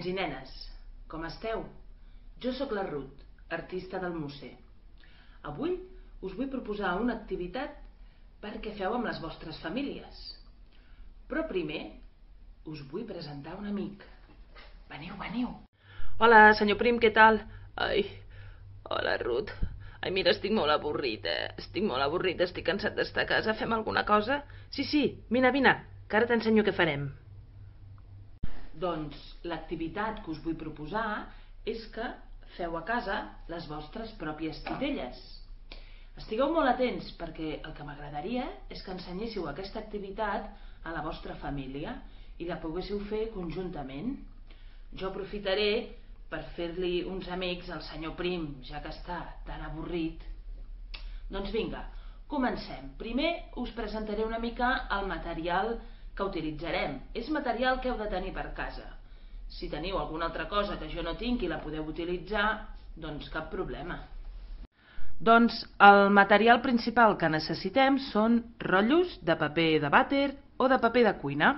Nens i nenes, com esteu? Jo sóc la Ruth, artista del Musser. Avui us vull proposar una activitat perquè feu amb les vostres famílies. Però primer us vull presentar un amic. Veniu, veniu. Hola, senyor Prim, què tal? Ai, hola, Ruth. Ai, mira, estic molt avorrit, estic cansat d'estar a casa. Fem alguna cosa? Sí, vine, que ara t'ensenyo què farem. Doncs l'activitat que us vull proposar és que feu a casa les vostres pròpies titelles. Estigueu molt atents perquè el que m'agradaria és que ensenyéssiu aquesta activitat a la vostra família i la poguéssiu fer conjuntament. Jo aprofitaré per fer-li uns amics al senyor Prim, ja que està tan avorrit. Doncs vinga, comencem. Primer us presentaré una mica el material que utilitzarem. És material que heu de tenir per casa. Si teniu alguna altra cosa que jo no tinc i la podeu utilitzar, doncs cap problema. Doncs el material principal que necessitem són rotllos de paper de vàter o de paper de cuina.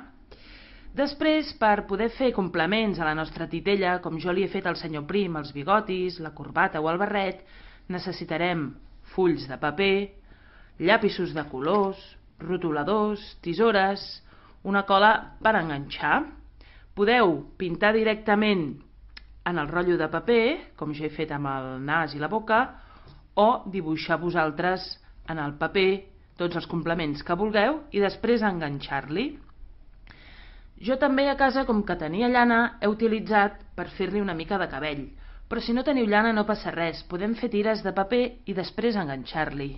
Després, per poder fer complements a la nostra titella, com jo li he fet al senyor Prim, els bigotis, la corbata o el barret, necessitarem fulls de paper, llapisos de colors, rotuladors, tisores, una cola per enganxar. Podeu pintar directament en el rotllo de paper, com jo he fet amb el nas i la boca, o dibuixar vosaltres en el paper tots els complements que vulgueu i després enganxar-li. Jo també a casa, com que tenia llana, he utilitzat per fer-li una mica de cabell. Però si no teniu llana no passa res, podem fer tires de paper i després enganxar-li.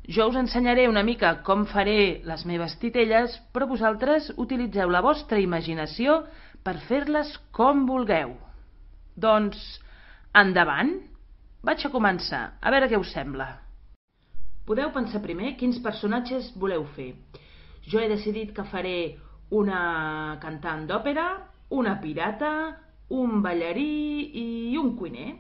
Jo us ensenyaré una mica com faré les meves titelles, però vosaltres utilitzeu la vostra imaginació per fer-les com vulgueu. Doncs, endavant! Vaig a començar, a veure què us sembla. Podeu pensar primer quins personatges voleu fer. Jo he decidit que faré una cantant d'òpera, una pirata, un ballarí i un cuiner.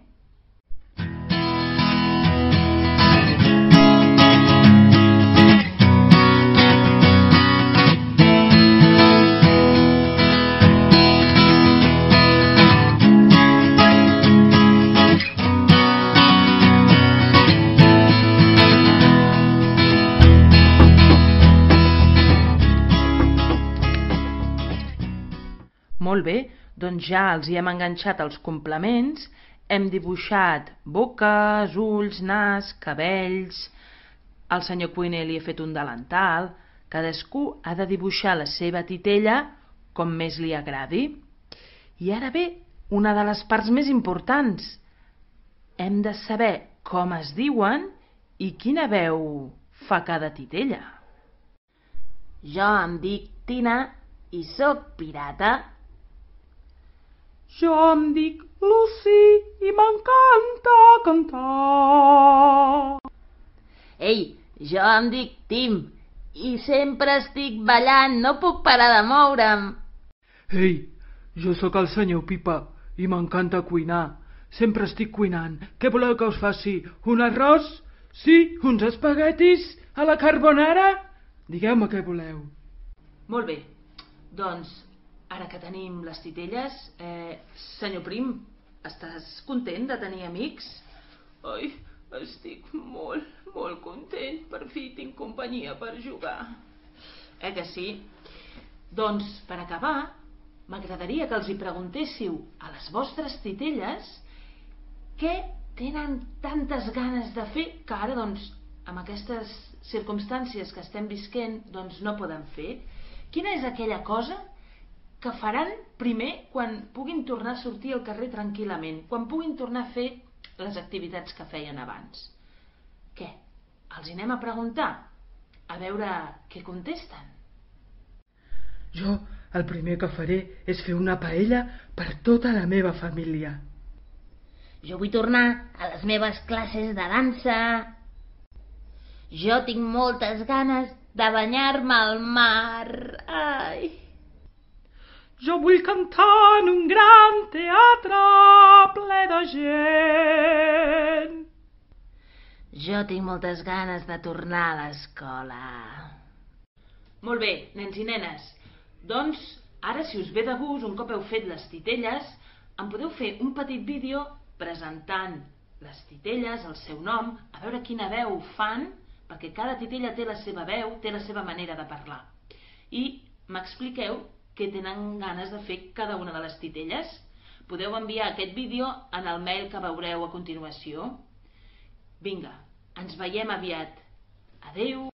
Molt bé, doncs ja els hi hem enganxat els complements, hem dibuixat boques, ulls, nas, cabells, al senyor cuiner li he fet un delantal, cadascú ha de dibuixar la seva titella com més li agradi. I ara ve una de les parts més importants. Hem de saber com es diuen i quina veu fa cada titella. Jo em dic Tina i sóc pirata. Jo em dic Lucy i m'encanta cantar. Ei, jo em dic Tim i sempre estic ballant, no puc parar de moure'm. Ei, jo sóc el senyor Pipa i m'encanta cuinar. Sempre estic cuinant. Què voleu que us faci? Un arròs? Sí, uns espaguetis a la carbonara? Digueu-me què voleu. Molt bé, doncs ara que tenim les titelles, senyor Prim, estàs content de tenir amics? Ai, estic molt content. Per fi tinc companyia per jugar. Que sí? Doncs, per acabar, m'agradaria que els hi preguntéssiu a les vostres titelles què tenen tantes ganes de fer que ara, doncs, amb aquestes circumstàncies que estem visquent, doncs no poden fer. Quina és aquella cosa que faran primer quan puguin tornar a sortir al carrer tranquil·lament, quan puguin tornar a fer les activitats que feien abans? Què? Els hi anem a preguntar? A veure què contesten. Jo el primer que faré és fer una paella per tota la meva família. Jo vull tornar a les meves classes de dansa. Jo tinc moltes ganes de banyar-me al mar. Ai! Jo vull cantar en un gran teatre ple de gent. Jo tinc moltes ganes de tornar a l'escola. Molt bé, nens i nenes. Doncs, ara, si us ve de gust, un cop heu fet les titelles, em podeu fer un petit vídeo presentant les titelles, el seu nom, a veure quina veu fan, perquè cada titella té la seva veu, té la seva manera de parlar. I m'expliqueu què tenen ganes de fer cada una de les titelles. Podeu enviar aquest vídeo en el mail que veureu a continuació. Vinga, ens veiem aviat. Adeu!